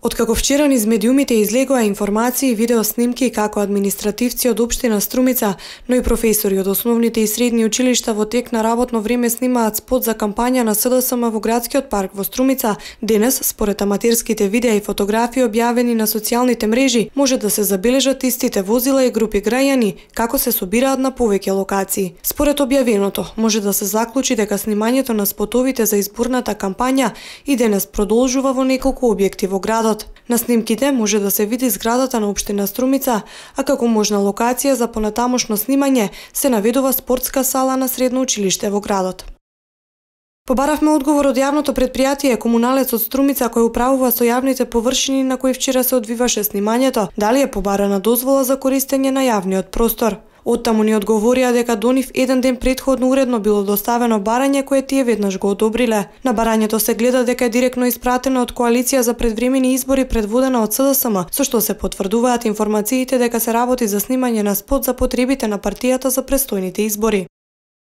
Откако вчера низ медиумите излегоа информации и видео снимки како административци од општина Струмица, но и професори од основните и средни училишта во тек на работно време снимаат спот за кампања на СДСМ во градскиот парк во Струмица, денес, според аматерските видеа и фотографии објавени на социјалните мрежи, може да се забележат истите возила и групи граѓани како се собираат на повеќе локации. Според објавеното, може да се заклучи дека снимањето на спотовите за изборната кампања и денес продолжува во неколку објекти во градот. На снимките може да се види зградата на општина Струмица, а како можна локација за понатамошно снимање се наведува спортска сала на средно училиште во градот. Побаравме одговор од јавното претпријатие Комуналец од Струмица кој управува со јавните површини на кои вчера се одвиваше снимањето, дали е побарана дозвола за користење на јавниот простор. Оттаму ни одговорија дека до нив еден ден претходно уредно било доставено барање кое тие веднаш го одобриле. На барањето се гледа дека е директно испратено од коалиција за предвремени избори предводена од СДСМ, со што се потврдуваат информациите дека се работи за снимање на спот за потребите на партијата за престојните избори.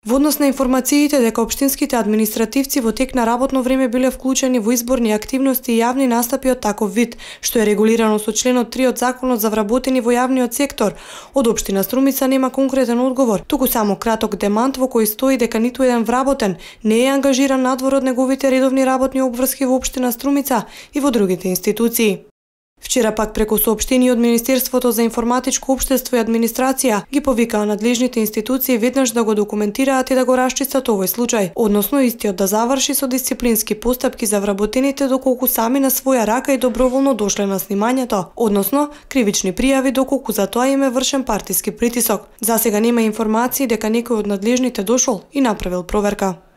Во однос на информациите дека општинските административци во тек на работно време биле вклучени во изборни активности и јавни настапи од таков вид, што е регулирано со членот 3 од Законот за вработени во јавниот сектор, од општина Струмица нема конкретен одговор, туку само краток демант во кој стои дека ниту еден вработен не е ангажиран надвор од неговите редовни работни обврски во општина Струмица и во другите институции. Вчера пак преку соопштение од Министерството за информатичко општество и администрација ги повикаа надлежните институции веднаш да го документираат и да го расчистат овој случај, односно истиот да заврши со дисциплински постапки за вработените доколку сами на своја рака и доброволно дошле на снимањето, односно кривични пријави доколку за тоа им е вршен партиски притисок. Засега нема информации дека некој од надлежните дошол и направил проверка.